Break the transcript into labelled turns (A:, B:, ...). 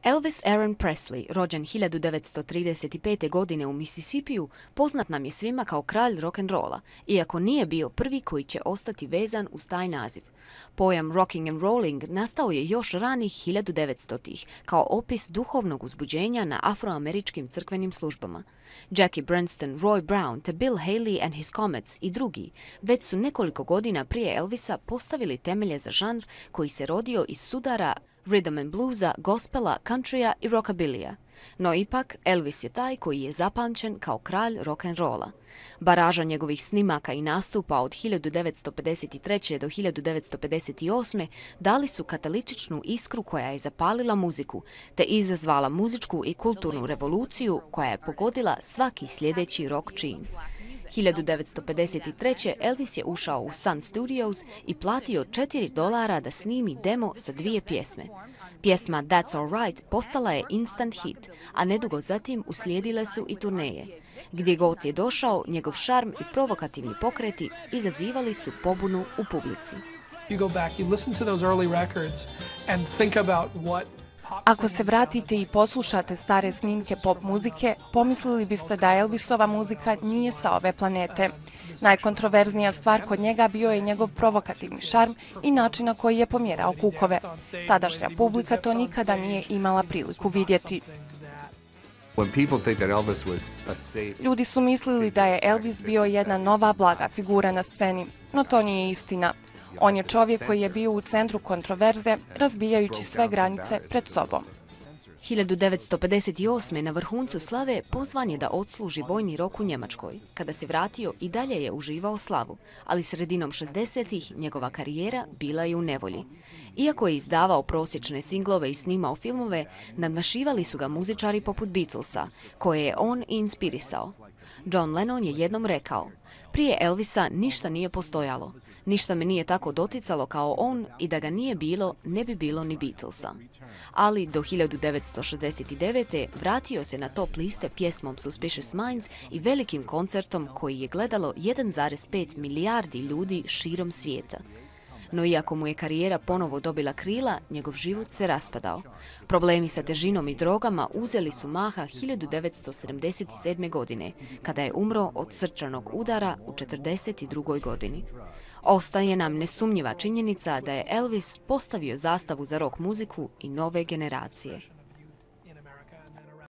A: Elvis Aaron Presley, rođen 1935. godine u Mississippiju, poznat nam je svima kao kralj rock'n'rolla, iako nije bio prvi koji će ostati vezan uz taj naziv. Pojam rocking and rolling nastao je još ranih 1900-ih kao opis duhovnog uzbuđenja na afroameričkim crkvenim službama. Jackie Brenston, Roy Brown te Bill Haley and His Comets i drugi već su nekoliko godina prije Elvisa postavili temelje za žanr koji se rodio iz sudara rhythm and bluesa, gospela, countrya i rockabilija. No ipak, Elvis je taj koji je zapamćen kao kralj rock'n'rolla. Baraža njegovih snimaka i nastupa od 1953. do 1958. dali su katalitičnu iskru koja je zapalila muziku, te izazvala muzičku i kulturnu revoluciju koja je pogodila svaki sljedeći rock čin. 1953. Elvis je ušao u Sun Studios i platio $4 da snimi demo sa 2 pjesme. Pjesma That's Alright postala je instant hit, a nedugo zatim uslijedile su i turneje. Gdje god je došao, njegov šarm i provokativni pokreti izazivali su pobunu u publici.
B: Ako se vratite i poslušate stare snimke pop muzike, pomislili biste da Elvisova muzika nije sa ove planete. Najkontroverznija stvar kod njega bio je njegov provokativni šarm i način na koji je pomjerao kukove. Tadašnja publika to nikada nije imala priliku vidjeti. Ljudi su mislili da je Elvis bio jedna nova blaga figura na sceni, no to nije istina. On je čovjek koji je bio u centru kontroverze, razbijajući sve granice pred sobom.
A: 1958. na vrhuncu slave pozvan je da odsluži vojni rok u Njemačkoj. Kada se vratio, i dalje je uživao slavu, ali sredinom 60-ih njegova karijera bila je u nevolji. Iako je izdavao prosječne singlove i snimao filmove, nadmašivali su ga muzičari poput Beatlesa, koje je on i inspirisao. John Lennon je jednom rekao: "Prije Elvisa ništa nije postojalo. Ništa me nije tako doticalo kao on i da ga nije bilo, ne bi bilo ni Beatlesa." Ali do 1969. vratio se na top liste pjesmom Suspicious Minds i velikim koncertom koji je gledalo 1,5 milijardi ljudi širom svijeta. No iako mu je karijera ponovo dobila krila, njegov život se raspadao. Problemi sa težinom i drogama uzeli su maha 1977. godine, kada je umro od srčanog udara u 42. godini. Ostaje nam nesumnjiva činjenica da je Elvis postavio zastavu za rock muziku i nove generacije.